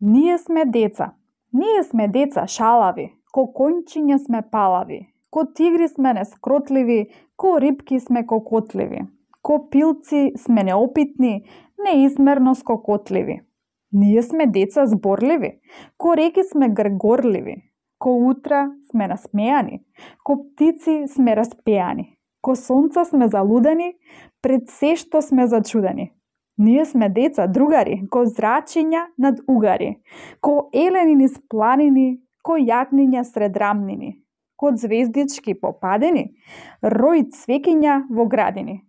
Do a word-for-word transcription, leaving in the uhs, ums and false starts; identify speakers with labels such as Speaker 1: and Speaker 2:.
Speaker 1: Ние сме деца. Ние сме деца шалави, ко конјчиња сме палави, ко тигри сме нескротливи, ко рипки сме кокотливи, ко пилци сме неопитни, неизмерно скокотливи. Ние сме деца зборливи, ко реки сме гргорливи, ко утра сме насмејани, ко птици сме распеани, ко сонца сме залудени, пред се што сме зачудени. Ние сме деца, другари, ко зрачиња над угари, ко елени низ планини, ко јагниња сред рамнини, ко ѕвездички по падини, рој цвеќиња во градини.